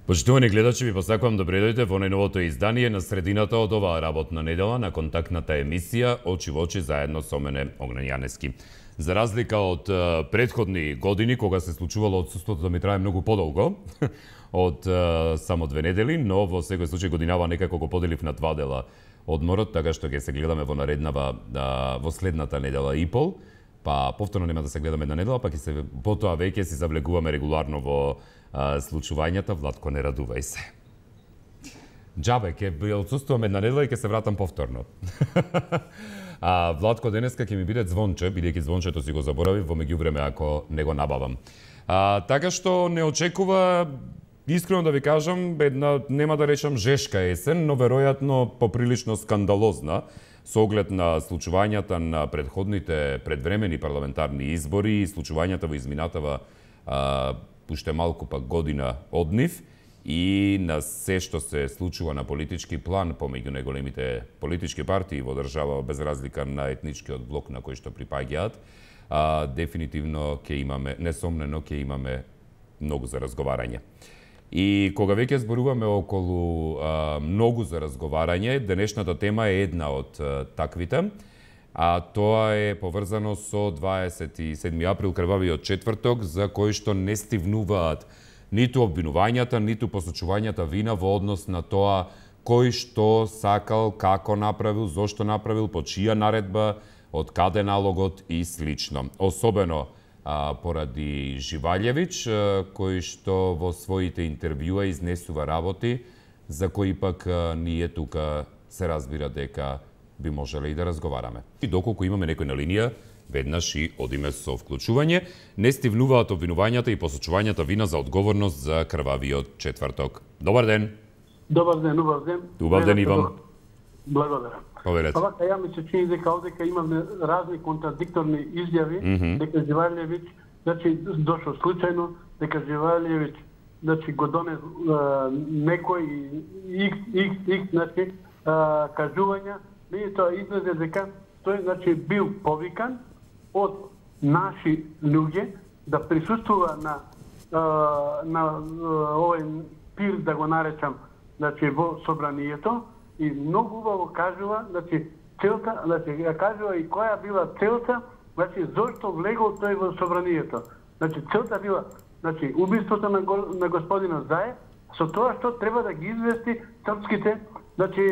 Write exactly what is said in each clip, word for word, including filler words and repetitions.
Почитувани гледачи, ви посакувам добре дојдете во најновото издание на средината од оваа работна недела на контактната емисија Очи во очи заедно со мене Огнен Јаневски. За разлика од претходни години, кога се случувало отсуството да ми трае многу подолго, од само две недели, но во секој случај годинава некако го поделив на два дела одморот, така што ќе се гледаме во нареднава, во следната недела и пол, па повторно нема да се гледаме една недела, па ќе се потоа веќе си завлегуваме регуларно во а, случувањата. Владко, не радувај се. Џабе, ќе отсуствувам една недела и ќе се вратам повторно. А Владко денеска ќе ми биде звонче, бидејќи звончето си го заборавив во меѓувреме ако не го набавам. А, така што не очекува, искрено да ви кажам, една, нема да речам жешка есен, но веројатно поприлично скандалозна, со оглед на случувањата на предходните предвремени парламентарни избори и случувањата во изминатава а, уште малку пак година од нив и на се што се случува на политички план помеѓу најголемите политички партии во држава без разлика на етничкиот блок на кој што припаѓаат, а, дефинитивно ќе имаме, несомнено ќе имаме многу за разговарање. И кога веќе зборуваме околу а, многу за разговарање, денешната тема е една од а, таквите, а тоа е поврзано со дваесет и седми април, крвавиот четврток, за кој што не стивнуваат ниту обвинувањата, ниту посочувањата вина во однос на тоа кој што сакал, како направил, зошто направил, по чија наредба, од каде налогот и слично. Особено а, поради Живалјевиќ, а, кој што во своите интервјуа изнесува работи за кои пак а, ние тука се разбира дека би можеле и да разговараме. И доколку имаме некој на линија, веднаш и одиме со вклучување. Не стивнуваат обвинувањата и посочувањата вина за одговорност за крвавиот четврток. Добар ден. Добар ден, убав ден. Убав ден, Иван. Благодарам. Поверете. Овака, ја ми се чини дека овдека имаме разни контрадикторни изјави, mm -hmm. дека Живалјевиќ, значи, дошол случајно, дека Живалјевиќ, значи, го доне некој икс, икс, икс, значи, а, кажувања, и тоа излезе дека тој, значи, бил повикан од наши луѓе да присуствува на а, на овој пир, да го наречам, значи, во собранието, и многу убаво кажува, значи, целта, значи, ја кажува и која била целта, значи, зошто влегол тој во собранието. Значи, целта била, значи, убиството на, го, на господина Заев, со тоа што треба да ги извести српските, значи,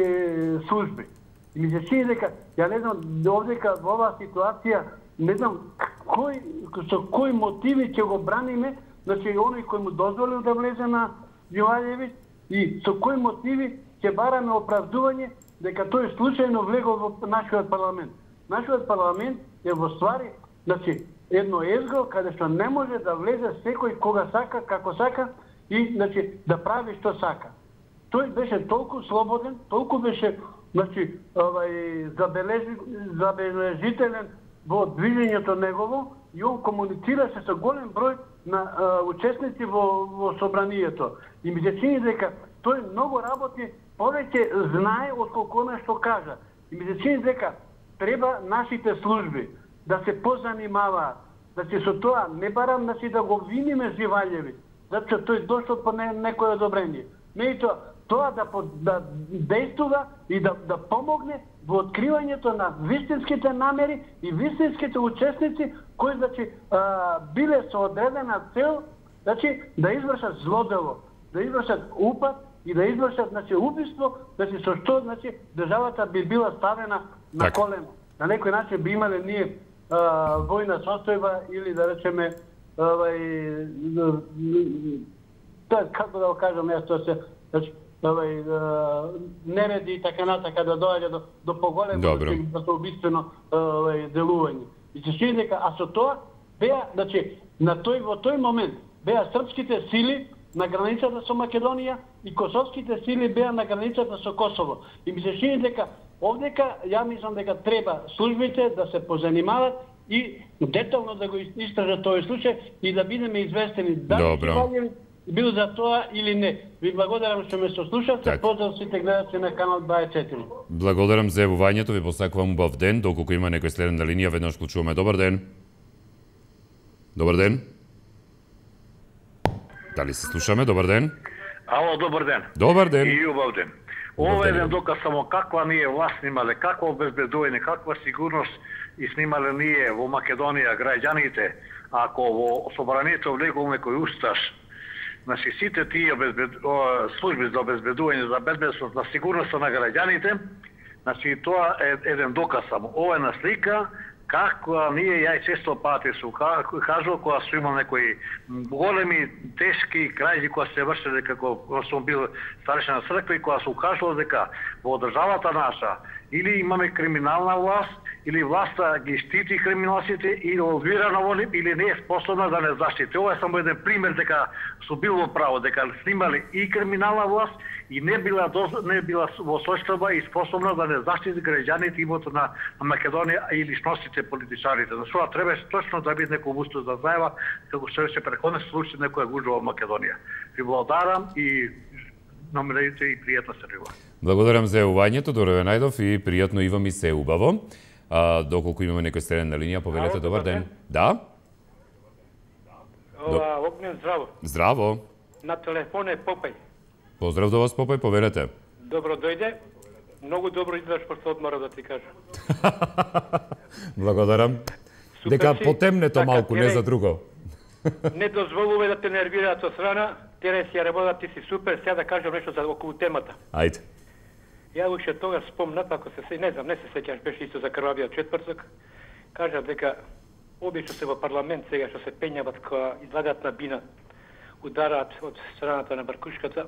служби. И ми се чини дека, ја не знам, овдека во оваа ситуација, не знам кој, со кои мотиви ќе го браниме, значи, оној кој му дозволил да влезе на Живалјевиќ и со кои мотиви ќе бараме оправдување дека тој случајно влегол во нашиот парламент. Нашиот парламент е во ствари, значи, едно езго каде што не може да влезе секој кога сака, како сака и, значи, да прави што сака. Тој беше толку слободен, толку беше, значи, овај, забележи, забележителен во движењето негово и он комуницираше со голем број на а, учесници во, во собранието. И ми се чини дека тој многу работи, повеќе знае отколку она што кажа. И ми се чини дека треба нашите служби да се позанимаваат. Значи, со тоа не барам, значи, да го виниме Живалјевиќ, затоа што тој дошол по не, некој одобрение. Меѓутоа, тоа да, да действува и да, да помогне во откривањето на вистинските намери и вистинските учесници кои, значи, а, биле со одредена цел, значи, да извршат злодело, да извршат упад и да извршат, значи, убиство, значи, со што, значи, државата би била ставена на так. колено. На некој начин би имале ние а, војна состојба или, да речеме, овај, тоа, како да го кажам, јас тоа се, значи, овај, нереди и така натака да доаѓа до, до поголемо убиствено овај, делување. И се чини дека, а со тоа беа, значи, на тој, во тој момент беа српските сили на границата со Македонија и косовските сили беа на границата со Косово. И ми се чини дека овдека, ја мислам дека треба службите да се позанимават и детално да го истражат тој случај и да бидеме известени дали бил за тоа или не. Ви благодарам што ме сослушавте. Поздрав сите гледачи на канал дваесет и четири. Благодарам за јавувањето, ви посакувам убав ден. Доколку има некој следен на линија, веднаш вклучуваме. Добар ден. Добар ден. Дали се слушаме? Добар ден. Ало, добар ден. Добар ден. И убав ден. Ова е еден доказ само каква ние власт снимале, какво обезбедување, каква сигурност и снимале ние во Македонија граѓаните, ако во собранието влегуваме кој усташ. Значи, сите тие обезбед... служби за обезбедување, за безбедност на сигурноста на граѓаните, значи, тоа е еден доказ само. Ова е на слика, како ние, ја и често пати су кажал, кога су имал некои големи, тешки крајзи, која се вршеле како сум бил старешна на црква и кога су кажал дека во државата наша или имаме криминална власт, или власта ги штити криминалците и олвирана во нив, или не е способна да не заштити. Ова е само еден пример дека су бил во право, дека снимале и криминална власт и не била доз... не била во состојба и способна да не заштити граѓаните имото на, на Македонија и личностите политичарите. За тоа треба точно да биде некој устав да знаева како што се преходен случај некоја гужва во Македонија. Ви благодарам и номерите и пријатно се рива. Благодарам за јавувањето, Дорове Најдов, и пријатно и вам и се убаво. А, доколку имаме некој среден на линија, повелете, добар ден. Да? Ова, Огнен, здраво. Здраво. На телефон е Попај. Поздрав до вас, Попај, повелете. Добро дојде. Многу добро изгледаш после одмора, да ти кажам. Благодарам. Супер Дека си. потемнето Така, малку, не тере- за друго. Не дозволуваме да те нервираат со страна. Тере си ја работа, ти си супер. Сега да кажам нешто за околу темата. Ајде. Ја уште тогаш спомнат, ако се се, не знам, не се сеќаш, беше исто за крвавиот четврток. Кажав дека обично се во парламент сега што се пењават кога излагаат на бина, удараат од страната на Баркушката,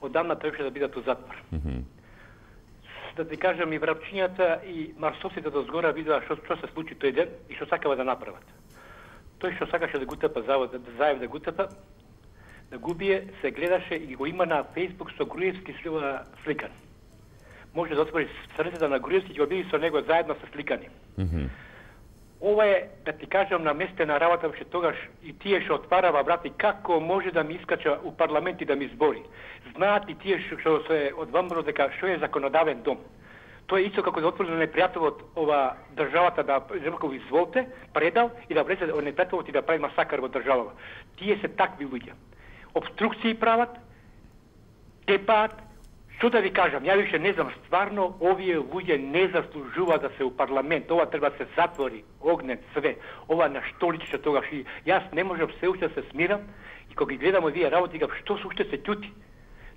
одамна требаше да бидат у затвор. Mm -hmm. Да ти кажам, и врапчињата и марсовците до згора видоа што што се случи тој ден и што сакава да направат. Тој што сакаше да го тепа завод, да заев да го тепа, да го бие, се гледаше и го има на Фејсбук со Груевски сликан. Може да отвори страницата на Груевски и го биде со него заедно со сликани. Mm -hmm. Ова е, да ти кажам, на местена работа, беше тогаш и тие што отварава врати, како може да ми искача у парламент и да ми збори. Знаат и тие што се одвамро дека што е законодавен дом. Тоа е исто како да отвори непријателот ова државата да рекол изволте, предал и да влезе непријателот и да прави масакар во државава. Тие се такви луѓе. Обструкции прават, тепаат. Што да ви кажам, ја више не знам, стварно овие луѓе не заслужуваат да се у парламент. Ова треба да се затвори, Огнен, све. Ова на што личи тогаш и јас не можам се уште да се смирам и кога ги гледам овие работи, гав што се уште се ќути.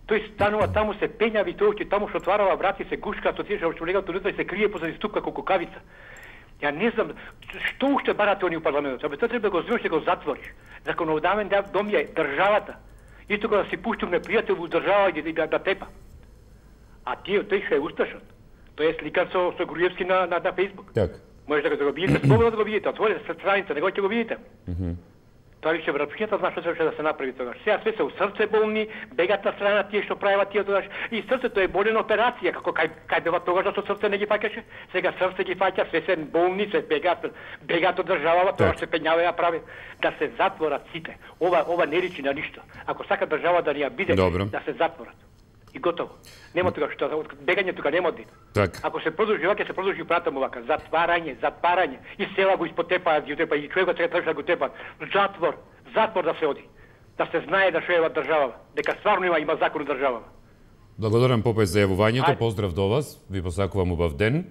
Тој станува таму се пењави, тој ќе таму што отварава врати се гушка, тоа тие што легаат унутра и се крие позади ступка како кукавица. Ја не знам што уште барате они у парламентот. Абе тоа треба да го земеш да го затвориш. Законодавен дом е државата. Исто кога да си пуштим непријател во држава и да, да тепа. А тие тој што е усташот. Тој е сликан со со Груевски на на, на Фејсбук. Така. Може да го видите, слободно да го видите, отворете страница, него ќе го видите. Мхм. Тоа више врапчињата знае што требаше да се направи тогаш. Сега све се у срце болни, бегат на страна тие што прават тие тогаш и срцето е болена операција, како кај кај бева тогаш што срце не ги фаќаше. Сега срце ги фаќа, све се болни, се бегат, бегат од државава, тоа се пењава ја прави да се затворат сите. Ова ова не личи на ништо. Ако сака држава да ни ја биде, Добро. да се затворат. И готово. Нема тука што бегање тука нема од. Така. Ако се продолжи вака, се продолжи пратам вака, затварање, затварање и села го испотепаат, ги тепа и човекот сега требаше да го тепат. Затвор, затвор да се оди. Да се знае да што е држава, дека стварно има има закон у државава. Благодарам, Попај, за јавувањето. Ајде. Поздрав до вас. Ви посакувам убав ден.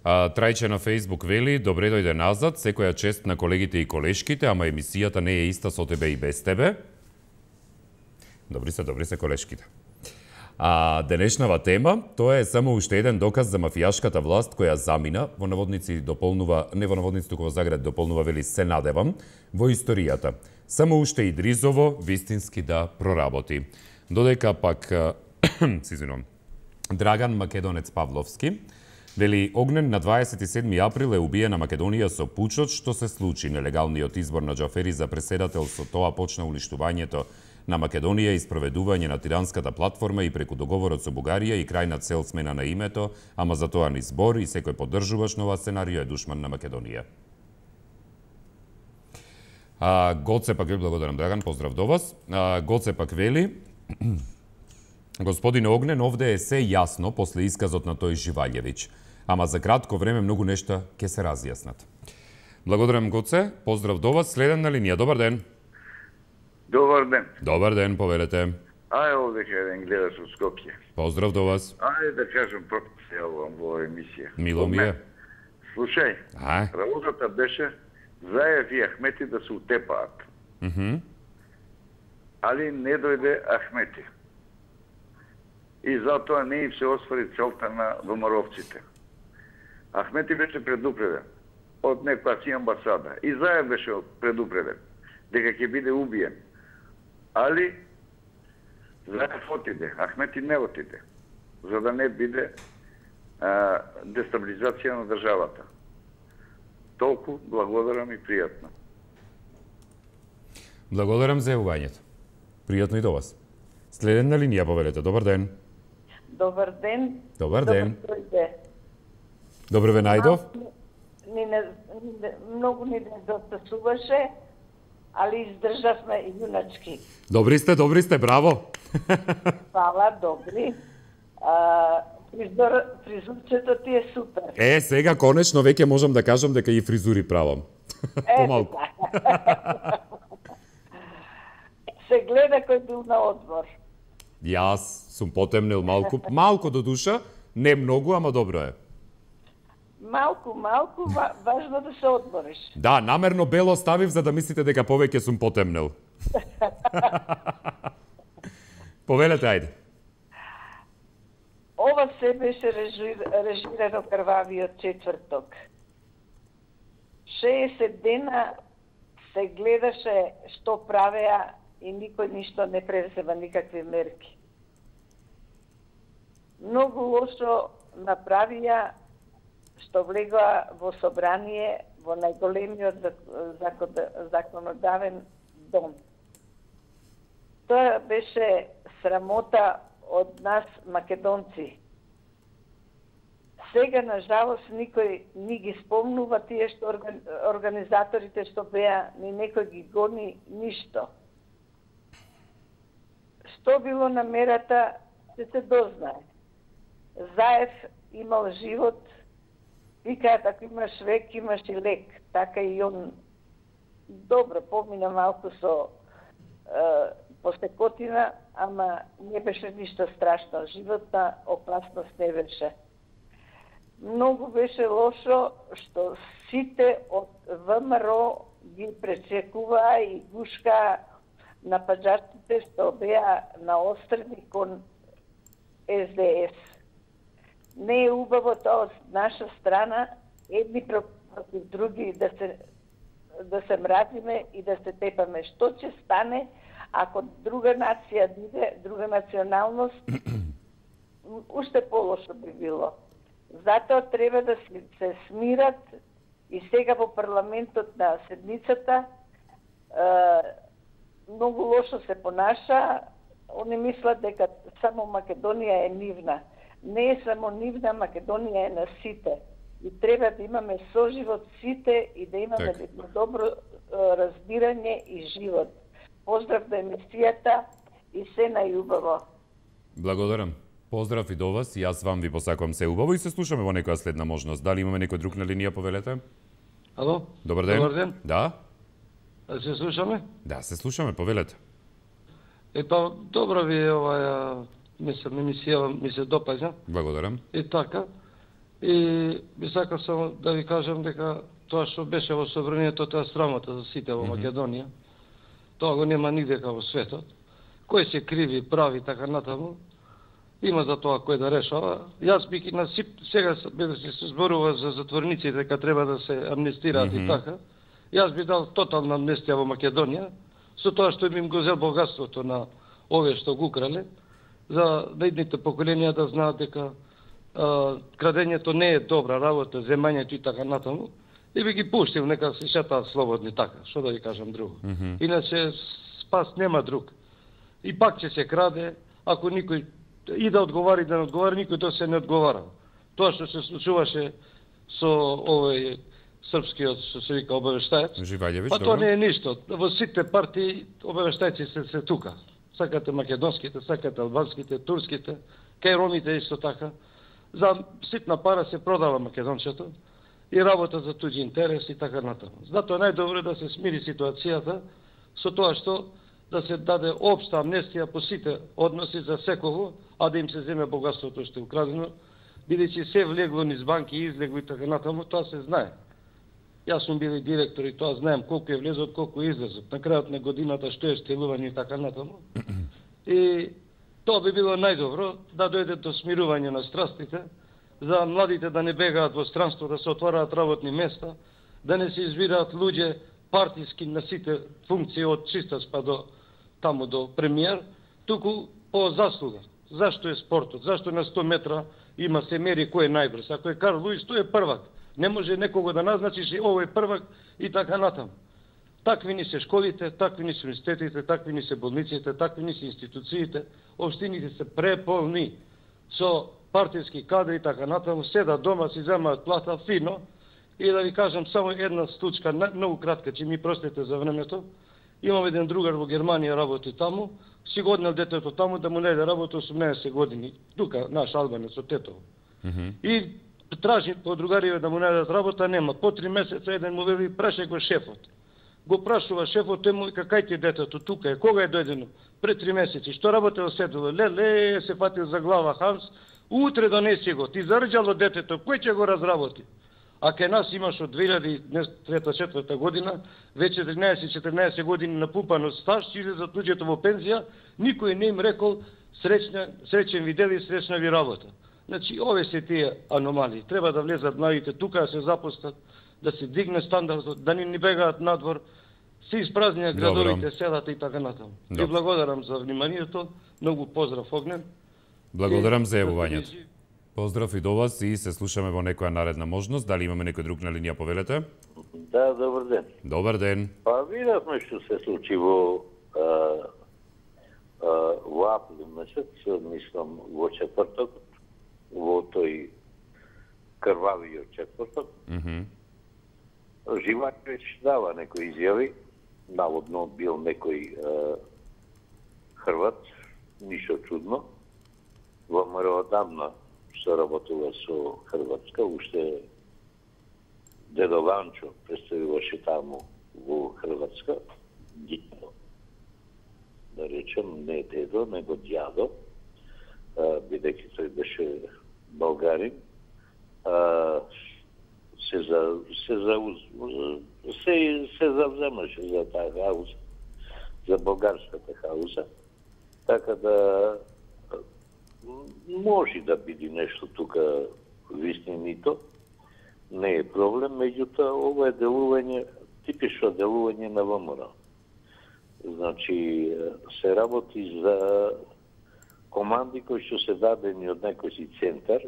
А, Трајче на Фејсбук вели: добре дојде назад, секоја чест на колегите и колешките, ама емисијата не е иста со тебе и без тебе. Добри се, добри се колешките. А денешнава тема, тоа е само уште еден доказ за мафијашката власт која замина, во наводници дополнува, не во наводници, туку во заград дополнува, вели, се надевам, во историјата. Само уште Идризово вистински да проработи. Додека пак, се извинувам, Драган Македонец Павловски, вели, Огнен на дваесет и седми април е убиена Македонија со пучот, што се случи нелегалниот избор на Џафери за преседател, со тоа почна уништувањето на Македонија и спроведување на тиранската платформа и преку договорот со Бугарија и крајна цел смена на името, ама за тоа ни збор и секој поддржуваш нова сценарио е душман на Македонија. А, Гоце пак ви благодарам, Драган, поздрав до вас. А, Гоце пак вели: Господин Огнен, овде е се јасно после исказот на тој Живаљевиќ, ама за кратко време многу нешта ќе се разјаснат. Благодарам, Гоце, поздрав до вас. Следен на линија, добар ден. Добар ден. Добар ден, поверете. Ај овде ке еден гледач од Скопје. Поздрав до вас. Ајде да кажем прво се јавувам во емисија. Мило ми е. Слушај, Ај. работата беше Заев и Ахмети да се утепаат. Мгм. Али не дојде Ахмети. И затоа не им се освари целта на ВМРО-вците. Ахмети беше предупреден од некоја си амбасада. И Заев беше предупреден дека ќе биде убиен. Али Заев отиде, Ахмети не отиде, за да не биде а, дестабилизација на државата. Толку благодарам и пријатно. Благодарам за јавувањето. Пријатно и до вас. Следна линија, повелете. Добар ден. Добар ден. Добар ден. Добар Добро ве најдов. Ни не, ни, многу ни не дотасуваше, али издржавме јуначки. Добри сте, добри сте, браво. Фала, добри. А, фризор, фризурчето ти е супер. Е, сега конечно веќе можам да кажам дека и фризури правам. Помалку. Се гледа кој бил на одмор. Јас сум потемнел малку, малку до душа, не многу, ама добро е. Малку, малку, ва, важно да се одмориш. Да, намерно бело ставив за да мислите дека повеќе сум потемнел. Повелете, ајде. Ова се беше режир, режирано крвавиот четврток. шеесет дена се гледаше што правеа и никој ништо не презема никакви мерки. Многу лошо направија што влегоа во собрание во најголемиот законодавен дом. Тоа беше срамота од нас македонци. Сега, на жалост, никој ни ги спомнува тие што организаторите што беа, ни некој ги гони, ништо. Што било намерата, се се дознае. Заев имал живот, викаат, ако имаш век, имаш и лек. Така и он добро помина малку со е, посекотина, ама не беше ништо страшно. Животна опасност не беше. Многу беше лошо што сите од ВМРО ги пречекуваа и гушкаа напаѓачите што беа наострени кон Ес Де Ес. Не е убаво тоа од наша страна едни против други да се да се мразиме и да се тепаме. Што ќе стане ако друга нација биде, друга националност, уште полошо би било. Затоа треба да се смират и сега во парламентот на седмицата многу лошо се понаша. Они мислат дека само Македонија е нивна. Не е само нивна, Македонија е на сите. И треба да имаме соживот сите и да имаме едно добро разбирање и живот. Поздрав до емисијата и се најубаво. Благодарам. Поздрав и до вас, и јас вам ви посакувам се убаво и се слушаме во некоја следна можност. Дали имаме некој друг на линија, повелете? Ало? Добар ден. Добар ден. Да? Се слушаме? Да, се слушаме, повелете. Е, па, добро ви е оваја, мислам, емисија ми се допаѓа. Благодарам. И така. И би сакал само да ви кажам дека тоа што беше во собранието, тоа срамота за сите во Македонија. Тоа го нема нигде во светот. Кој се криви, прави, така натаму, има за тоа кој да решава. Јас би на сип, сега да се зборува за затворниците, дека треба да се амнестираат mm -hmm. и така. Јас би дал тотална амнестија во Македонија, со тоа што им го зел богатството на овие што го украле, за наидните поколенија да знаат дека а, крадењето не е добра работа, земањето и така натаму, и би ги пуштил, нека се шетаат слободни така, што да ви кажам друго. Mm -hmm. Иначе спас нема друг. И пак ќе се краде, ако никој и да одговари, и да не одговари, никој тоа се не одговара. Тоа што се случуваше со овој српскиот, што се вика, обавештаец, Живајлевич, па тоа не е ништо. Во сите партии обавештајци се, се тука. Сакате македонските, сакате албанските, турските, кај ромите исто така. За ситна пара се продава македончето и работа за туѓи интерес и така натаму. Затоа најдобро е да се смири ситуацијата со тоа што да се даде општа амнестија по сите односи за секого, а да им се земе богатството што е украдено, бидејќи се влегло низ банки и излегло и така натаму, тоа се знае. Јас сум бил и директор и тоа знаем колку е влезот, колку е излезот. На крајот на годината што е стелување и така натаму. И тоа би било најдобро да дојде до смирување на страстите, за младите да не бегаат во странство, да се отвараат работни места, да не се избираат луѓе партиски на сите функции од чистач па до таму до премиер, туку по заслуга. Зашто е спортот? Зашто на сто метра има се мери кој е најбрз? Ако е Карл Луис, тој е првак. Не може некого да назначиш и овој првак и така натаму. Такви ни се школите, такви ни се университетите, такви ни се болниците, такви ни се институциите, општините се преполни со партиски кадри и така натаму, седат дома, си земаат плата фино. И да ви кажам само една случка, многу кратка, че ми простите за времето. Имам еден другар во Германија, работи таму, си го однел детето таму да му најде работа осумнаесет години. Тука, наш албанец од Тетово. Mm -hmm. И тражи по другариве да му најдат работа, нема. По три месеца еден му вели, праше го шефот. Го прашува шефот, тој му вика, кај ти детето, тука е, кога е дојдено? Пред три месеци, што работел седело? Леле, се фатил за глава Ханс, утре донеси го, ти зарđало детето, кој ќе го разработи? А ке нас имаш од две илјади трета-четврта година, веќе тринаесет-четирнаесет години напупано стаж, излезат луѓето во пензија, никој не им рекол среќна, среќен ви дел и среќна ви работа. Значи, ове се тие аномалии. Треба да влезат младите тука, да се запустат, да се дигне стандардот, да не ни бегаат надвор, се испразнија градовите, селата и така натаму. Ви благодарам за вниманието, многу поздрав Огнен. Благодарам за јавувањето. Поздрав и до вас и се слушаме во некоја наредна можност. Дали имаме некој друг на линија, повелете? Да, добар ден. Добар ден. Па видавме што се случи во а, а, во април месец, мислам во четврток, во тој крвавиот четврток. Mm -hmm. Живач дава некои изјави, наводно бил некој а, Хрват, ништо чудно. Во ВМРО одамна се работува со Хрватска, уште дедо Ванчо представуваше таму во Хрватска, дјадо, да речем, не дедо, него дјадо, бидејќи тој беше българин, а, се за се за се се завземаше за таа хауза, за болгарската хауза, така да може да биде нешто тука вистинито, не е проблем, меѓутоа ова е делување, типично делување на ВМРО. Значи, се работи за команди кои што се дадени од некој си центар,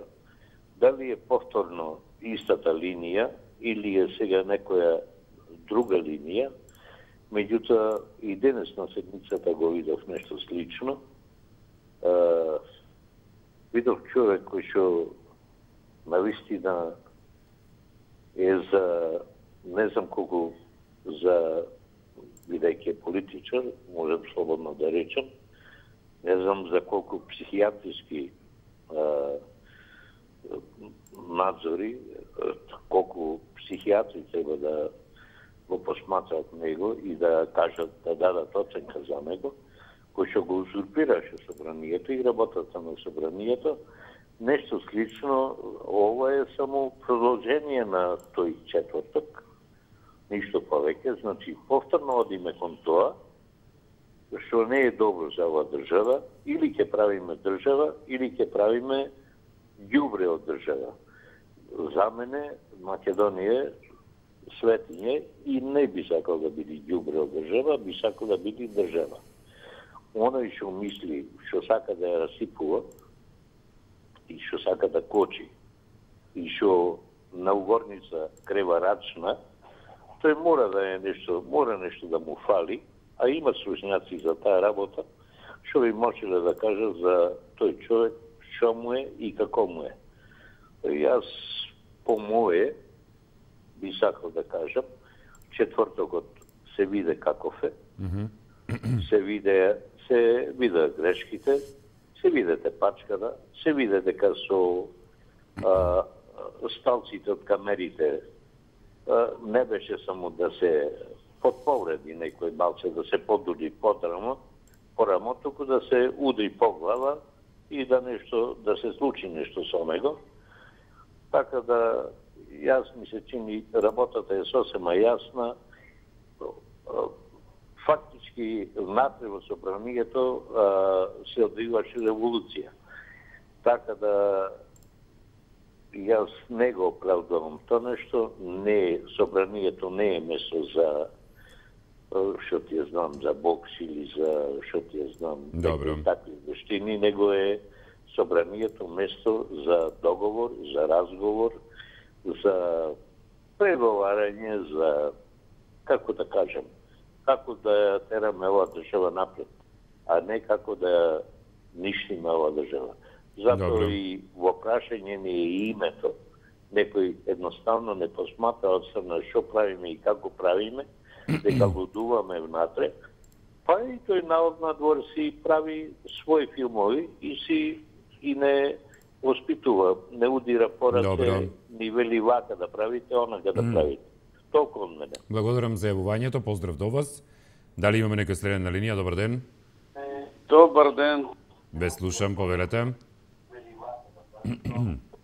дали е повторно истата линија или е сега некоја друга линија, меѓутоа и денес на седмицата го видов нешто слично. Видов човек кој што навистина е за, не знам колку, за, бидејќи е политичар, можем слободно да речем, не знам за колку психијатриски а, надзори, колку психијатри треба да го посматрат него и да кажат, да дадат оценка за него, кој што го узурпираше собранието и работата на собранието. Нешто слично, ова е само продолжение на тој четврток, ништо повеќе, значи повторно одиме кон тоа, што не е добро за оваа држава, или ќе правиме држава, или ќе правиме ѓубре од држава. За мене Македонија е светиње и не би сакал да биде ѓубре од држава, би сакал да биде држава. Оној што мисли, што сака да ја расипува и што сака да кочи и што на угорница крева рачна, тој мора да е нешто, мора нешто да му фали, а има слушњаци за таа работа, што би можеле да кажат за тој човек што му е и како му е. Јас по мое би сакал да кажам, четвртокот се виде каков е, mm-hmm. се виде се видат грешките, се видете пачката, се виде дека со а, сталците од камерите а, не беше само да се подповреди некој малце, да се подуди подрамо, порамо, туку да се удри по глава и да нешто, да се случи нешто со него. Така да, јас ми се чини, работата е сосема јасна. Фактички, внатре во собранието се одвиваше револуција. Така да, јас не го оправдувам тоа нешто, не, собранието не е место за, што ти ја знам, за бокс или за, што ти ја знам, такви вештини, него е собранието место за договор, за разговор, за преговарање, за, како да кажем, како да тераме оваа држава напред, а не како да ништиме оваа држава. Затоа и во прашање не е името. Некој едноставно не посматра од страна што правиме и како правиме, дека лудуваме внатре, па и тој народ надвор си прави своји филмови и си и не воспитува, не удира пораце, ни вели вака да правите, онака да правите. Толку од мене. Благодарам за јавувањето, поздрав до вас. Дали имаме некој следен на линија? Добар ден. Добар ден. Ве слушам, повелете.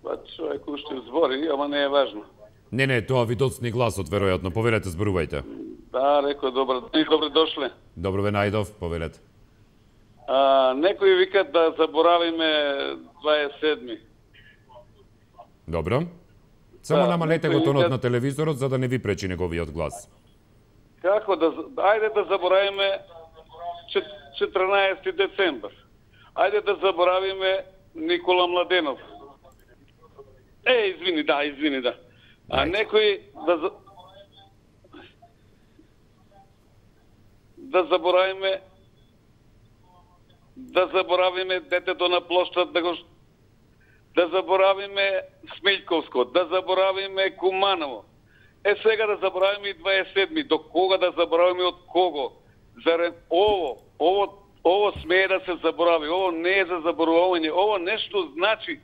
Па човек уште збори, ама не е важно. Не, не, тоа ви доцни гласот, веројатно. Повелете, зборувајте. Да, рекој, добар ден, добре дошле. Добро ве најдов, повелете. А, некои викат да заборавиме дваесет седми. Добро. Само да, намалете го тонот викат... на телевизорот, за да не ви пречи неговиот глас. Како да... Ајде да заборавиме четрнаесети децембар. Ајде да заборавиме Никола Младенов. Е, извини, да, извини, да. А некои да... Да заборавиме да заборавиме детето на площад, да го да заборавиме Смилковско, да заборавиме Куманово. Е сега да заборавиме и дваесет седми. До кога да заборавиме од кого? Зарем ово, ово, ово смее да се заборави. Ово не е за заборавање. Ово нешто значи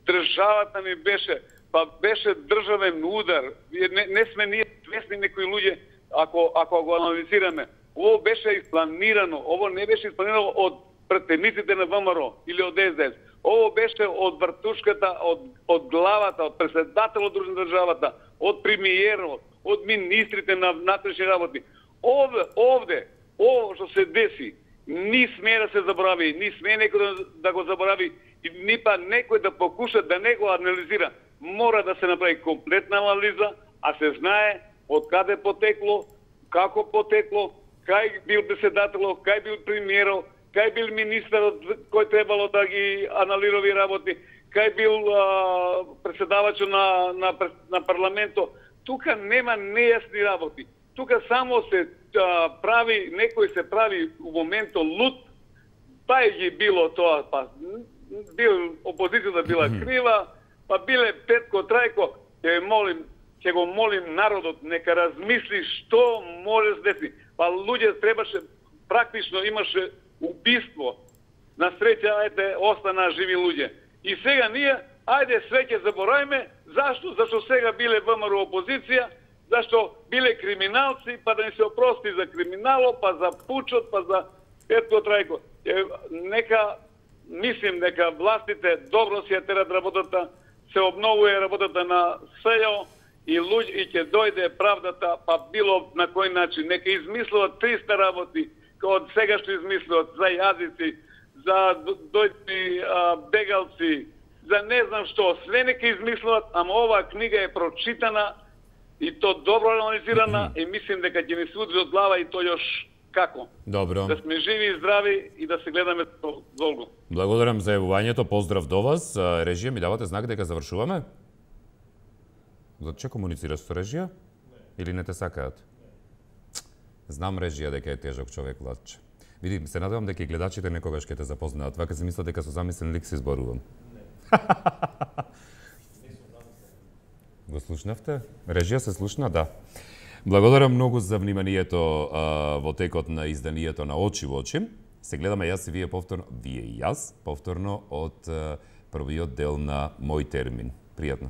државата ни беше, па беше државен удар. Не, не сме ние свесни некои луѓе ако ако го анализираме. Ово беше испланирано. Ово не беше испланирано од претениците на ВМРО или од Ес Де Ес. Ово беше од вртушката, од, од главата, од председателот на државата, од премиерот, од министрите на внатрешни работи. Овде, овде, ово што се деси, ни смее да се заборави, ни смее некој да, да го заборави, и ни па некој да покуша да не го анализира. Мора да се направи комплетна анализа, а се знае од каде потекло, како потекло, кај бил председателот, кај бил премиерот, кај бил министерот кој требало да ги аналирови работи, кај бил а, председавачот на, на, на парламентот. Тука нема нејасни работи. Тука само се а, прави, некој се прави у моментот луд, па ги било тоа, па бил опозицијата била крива, па биле Петко Трајко, ќе молим, ќе го молим народот нека размисли што може да се деси. Па луѓе требаше, практично имаше убиство. На среќа, ајде, остана живи луѓе. И сега ние, ајде, све ќе заборавиме. Зашто? Зашто сега биле ВМРО опозиција, зашто биле криминалци, па да ни се опрости за криминало, па за пучот, па за Петко Трајко. Нека, мислим, дека властите добро си ја терат работата, се обновува работата на СЈО и луѓе и ќе дојде правдата, па било на кој начин. Нека измислуваат триста работи, од сега што измислуваат за јазици, за дојдни бегалци, за не знам што, све нека измислуваат, ама оваа книга е прочитана и то добро анализирана и мислим дека ќе ни се удри од глава и то још како. Добро. Да сме живи и здрави и да се гледаме долго. Благодарам за јавувањето, поздрав до вас. Режија, ми давате знак дека завршуваме? Заче комуницираш со режија? Или не те сакаат? Знам, режија, дека е тежок човек, Владче. Види, се надевам дека и гледачите некогаш ќе те запознаат. Вака се мислат дека со замислен лик се изборувам. Го слушнавте? Режија се слушна? Да. Благодарам многу за вниманието а, во текот на изданието на Очи во очи. Се гледаме јас и вие повторно, вие и јас, повторно од а, првиот дел на Мој термин. Пријатно.